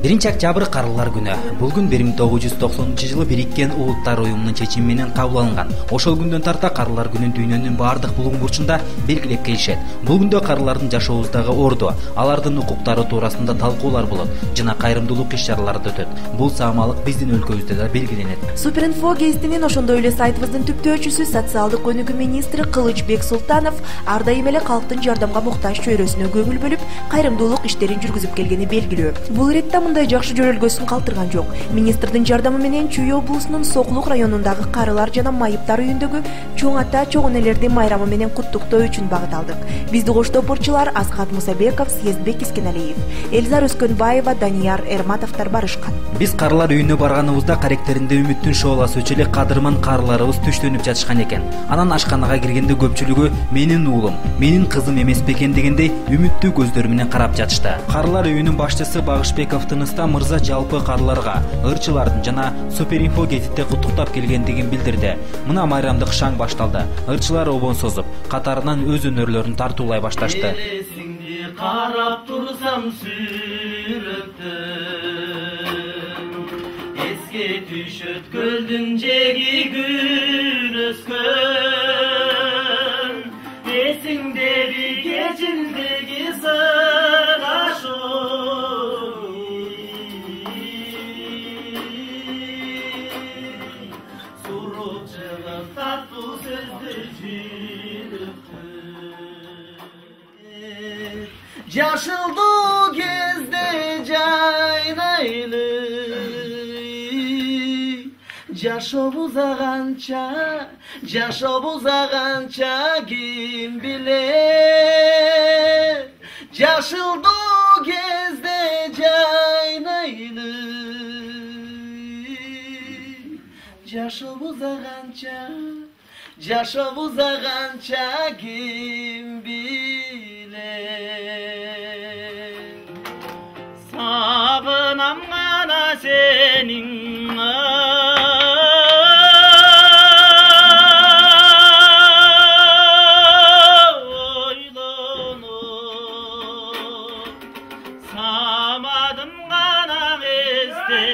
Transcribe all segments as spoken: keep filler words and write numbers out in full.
биринчи октябрь карылар күнү. Бул күн бир миң тогуз жүз токсонунчу жылы Бириккен Улуттар уюмунун чечими менен кабыл алынган. Ошол күндөн тарта карылар күнүн дүйнөнүн баардык булуң бурчунда белгилеп келишет. Бул күндө карылардын жашообуздагы орду, алардын укуктары туурасында талкуулар болот жана кайрымдуулук иш-чаралары да өтөт. Бул саамалык биздин өлкөбүздө да белгиленет. Суперинфо гезитинин ошондой эле сайтыбыздын түптөөчүсү, социалдык өнүгүү министри Кылычбек Султанов ар дайым эле калктын жардамга муктаж чөйрөсүнө көңүл бөлүп, кайрымдуулук иштерин жүргүзүп келгени белгилүү. Бул иретте мындай жакшы жөрөлгөсүн калтырган жок. Министрдин жардамы менен Чүй облусунун Сокулук районундагы карылар жана майыптар үйүндөгү чоң ата чоң энелердин майрамы менен куттуктоо үчүн багыт алдык. Бизди коштопурчулар Асхат Мусабеков, Съездбек Искеналиев, Элзар Өскөнбаева, Данияр Эрматовдор барышкан. Биз карылар үйүнө барганыбызда каректеринде үмүттүн шооласы өчө эле кадырман карыларыбыз түштөнүп жатышкан экен. Анан ашканага киргенде көпчүлүгү менин уулум, менин кызым эмес бекен дегендей үмүттүү көздөр менен карап жатышты. Карылар үйүнүн башчысы Багышбеков Тыныста мырза жалпы карыларга, ырчылардын жана Суперинфо гезитте куттуктап келгендигин билдирди. Мына майрамдык шаң башталды. Ырчылар обон созуп, катарынан өз өнөрлөрүн тартуулай башташты. Карап турсам сүрөттөн, эске түшөт көлдүн жеги гүл өскөн, эсиңдеби кечилдеги сыгашуу, суруп чыгып таттуу сөздөр жүрөктөн. Жашылдуу кезде жайнайлы, жашообуз аганча, жашообуз аганча ким билет. Жашылдуу кезде жайнайлы, жашообуз аганча, жашообуз аганча ким билет. Сагынам гана сенин ойлонуп, самадым гана эсте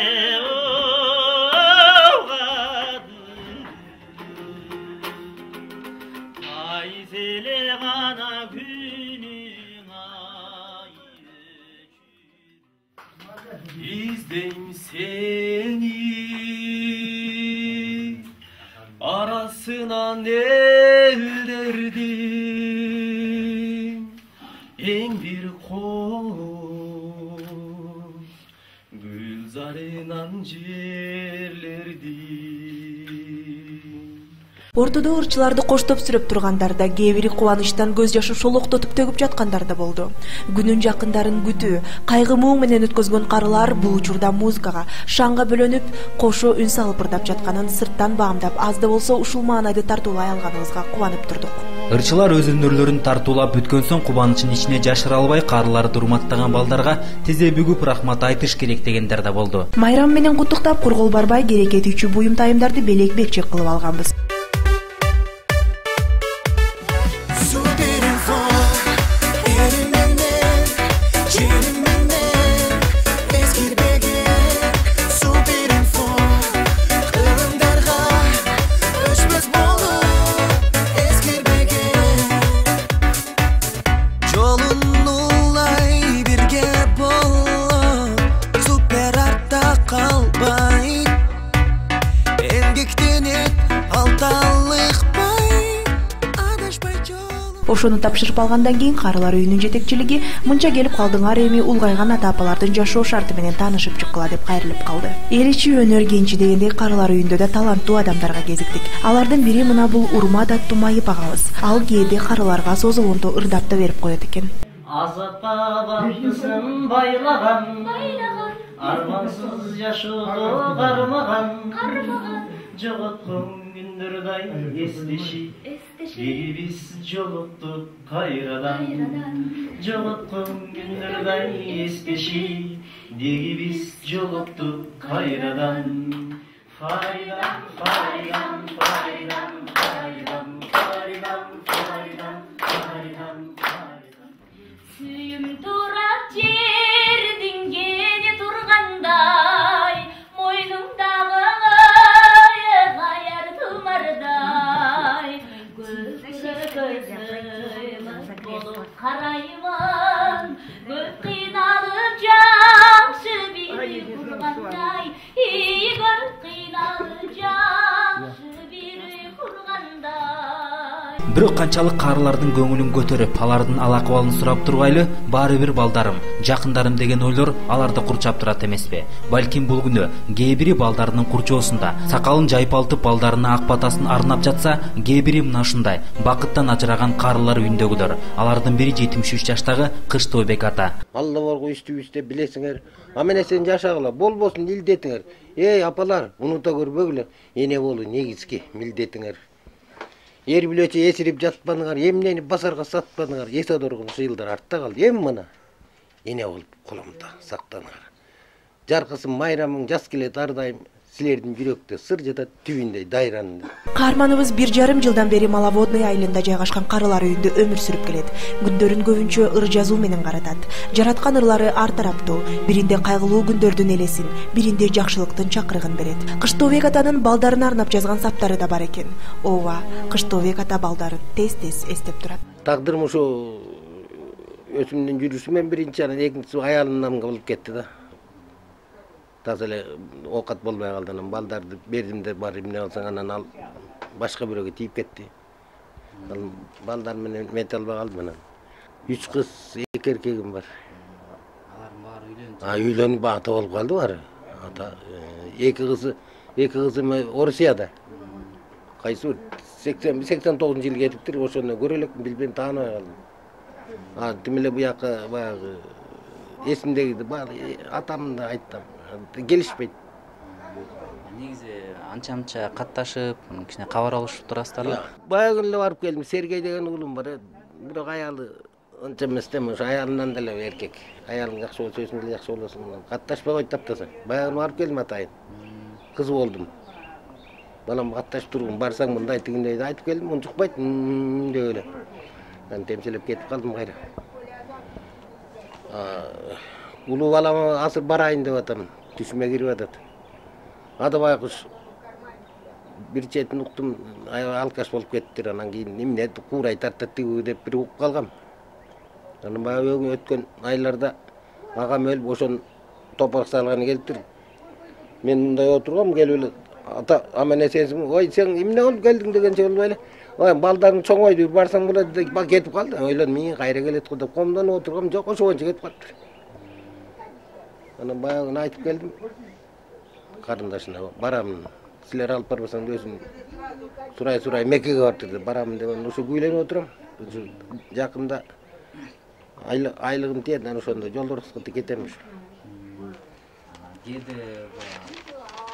айзеле гана күнүң ай өчүр. Издейм сени арасынан элдердин эң бир кош гүлзарынан жерлердин. Ортодо ырчыларды коштоп сүрөп тургандар да, кээ бири кубанычтан көз жашын шолоктотуп төгүп жаткандар да болду. Күнүн жакындарын күтүү, кайгы муң менен өткөзгөн карылар бул учурда музыкага, шаңга бөлөнүп, кошо үн салып ырдап жатканын сырттан баамдап, аз да болсо ушул маанайды тартуулай алганыбызга кубанып турдук. Ырчылар өз өнөрлөрүн тартуулап бүткөн соң кубанычын ичине жашыра албай карыларды урматтаган балдарга тизе бүгүп рахмат айтыш керек дегендер да болду. Майрам менен куттуктап кургол барбай керекетүүчү буюм тайымдарды белек белчек кылып алганбыз. Ошону тапшырып алгандан кийин карылар үйүнүн жетекчилиги мынча келип калдыңар, эми улгайган ата-апалардын жашоо шарты менен таанышып чыккыла деп кайрылып калды. Эл ичи өнөр кенчи дегендей карылар үйүндө да таланттуу адамдарга кезиктик. Алардын бири мына бул Урмат аттуу майып агабыз. Ал кээде карыларга созулгондо ырдап да берип коет экен. Азапка бактысын байлаган, армансыз жашоого кармаган, жоготкон күндөрдай эстеши, неге биз жолуктук кайрадан. Жоготкон күндөрдай эстеши, неге биз жолуктук кайрадан. Файдам, файдам, файдам, файдам, файдам, файдам, файдам, файдам. Сүйүм турат жердин кене турган болуп караймын, көп кыйналып жакшы бир кургандай, көп кыйналып жакшы бир кургандай. Бирок канчалык карылардын көңүлүн көтөрүп, алардын ал акыбалын сурап тургайлы, баары бир балдарым, жакындарым деген ойлор аларды курчап турат эмеспи? Балким бул күнү кээ бири балдарынын курчоосунда сакалын жайпалтып балдарына ак батасын арнап жатса, кээ бири мына ушундай бакыттан ажыраган карылар үйүндөгүлөр. Алардын бири жетимиш үч жаштагы Кыштообек ата. Алла борго үстүбүздө билесиңер, амene сен жашагыла, болбосун илдетиңер. Эй апалар, унута көрбөгүлө, эне болуу негизги милдетиңер. Эр билечи эсирип жатпадыңар, эмнени базарга сатпадыңар, эсе доргун жыйылдар артта калды. Эми мына эне болуп колумда сактаныңар. Жаркысын майрамың жаз келет ар дайым, силердин жүрөктө сыр жатат түбүндө дайранында. Каарманыбыз бир жарым жылдан бери Маловодный айылында жайгашкан карылар үйүндө өмүр сүрүп келет. Күндөрүн көбүнчө ыр жазуу менен каратат. Жараткан ырлары ар тараптуу. Биринде кайгылуу күндөрдүн элесин, биринде жакшылыктын чакырыгын берет. Кыштообек атанын балдарына арнап жазган саптары да бар экен. Ооба, Кыштообек ата балдарын тез-тез эстеп турат. Тагдырым ушу өзүмдүн жүрүшү менен биринчи, анан экинчиси аялымдан болуп кетти да. Таза эле оокат болбой калды, анан балдарды бердим деп бар эмне алсаң анан ал башка бирөөгө тийип кетти. Ал балдар менен мете албай калдым анан. Үч кыз, эки эркегим бар. Алардын баары үйлөнүп. А үйлөнүп ата болуп калды баары. Ата эки кызы, эки кызым Орусияда. Кайсы сексен сексен тогузунчу жылы кетиптир, ошону көрө элекмин, билбейм, тааныбай калдым. А тим эле буяка баягы эсимдеги атамды айттым. Келишпейт. Негизи анча-мынча катташып, кичине кабар алышып турасыздарбы? Баягы эле барып келдим. Сергей деген уулум бар. Бирок аялы анча эмес да, ошо аялынан деле эркек. Аялың жакшы болсо, өзүң деле жакшы болосуң. Катташпай койт таптаса. Баягы барып келдим атайын. Кыз болдум. Балам катташып тургум, барсаң мындай тигиндей айтып келдим, унчукпайт деп эле. Мен темселеп кетип калдым кайра. Улуу балама азыр барайын деп атам, түшүмө кирип атат. Ада байкуш бир четин уктум, алкаш болуп кеттир, анан кийин эмне куурай тартат деп бир угуп калгам. Анан баягы өткөн айларда агам өлүп, ошон топурак салганы келиптир. Мен мындай отургам, келип эле ата амene сенсиң, ой сен эмне болуп келдиң дегенче болбой эле. Ой балдарың чоңойду, барсаң болот деп кетип калды. Ойлодум, мен кайра келет го деп комдон отургам, жок ошончо кетип калыптыр. Анан баягыны айтып келдим. Карындашына барам, силер алып барбасаң өзүң сурай-сурай Меккеге бартыр деп барам деп, ошо күйлөнүп отурам. Жакында айлыгым тиет, анан ошондо жолдорубузга кетемиш. Кээде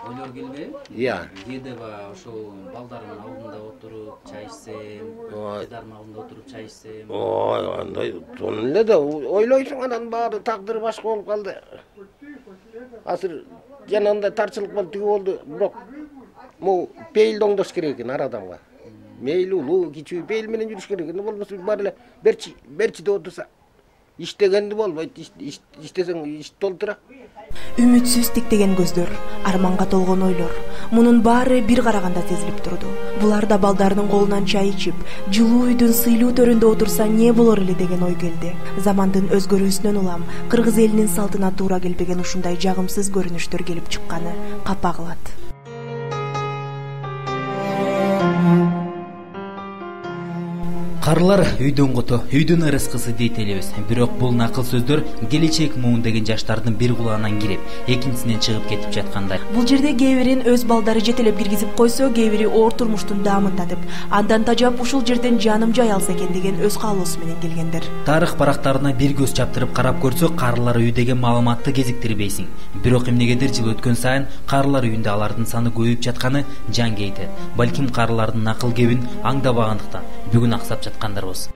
ойлор келбейби? Ия. Кээде ошол балдардын алдында отуруп чай ичсем, кыздардын алдында отуруп чай ичсем. Ой, андай сонун эле да ойлойсуң, анан баары тагдыры башка болуп калды. Азыр жанагындай тарчылык болду, тиги болду, бирок могу пейилди оңдош керек экен ар адамга. Мейли улуу, кичүү пейил менен жүрүш керек экен, болбосо бар эле берчи, берчи деп отурса, иштегенди болбойт, иштесең иш толтура. Үмүтсүз тиктеген көздөр, арманга толгон ойлор. Мунун баары бир караганда сезилип турду. Булар да балдарынын колунан чай ичип, жылуу үйдүн сыйлуу төрүндө отурса не болор эле деген ой келди. Замандын өзгөрүүсүнөн улам кыргыз элинин салтына туура келбеген ушундай жагымсыз көрүнүштөр келип чыкканы капа кылат. Карылар үйдөн кото, үйдүн ырыскысы дейт элебиз. Бирок бул накыл сөздөр келечек муун жаштардын бир кулагынан кирип, экинчисинен чыгып кетип жаткандай. Бул жерде кээ бирин өз балдары жетелеп киргизип койсо, кээ бири оор турмуштун даамын татып, андан тажап ушул жерден жаным жай алса экен деген өз каалоосу менен келгендер. Тарых барактарына бир көз чаптырып карап көрсөк, карылар үйү деген маалыматты кезиктирбейсиң. Бирок эмнегедир жыл өткөн сайын карылар үйүндө алардын саны көбөйүп жатканы жан кейтет. Балким карылардын накыл кебин аңдабагандыктан бүгүн аксап жаткандарбыз.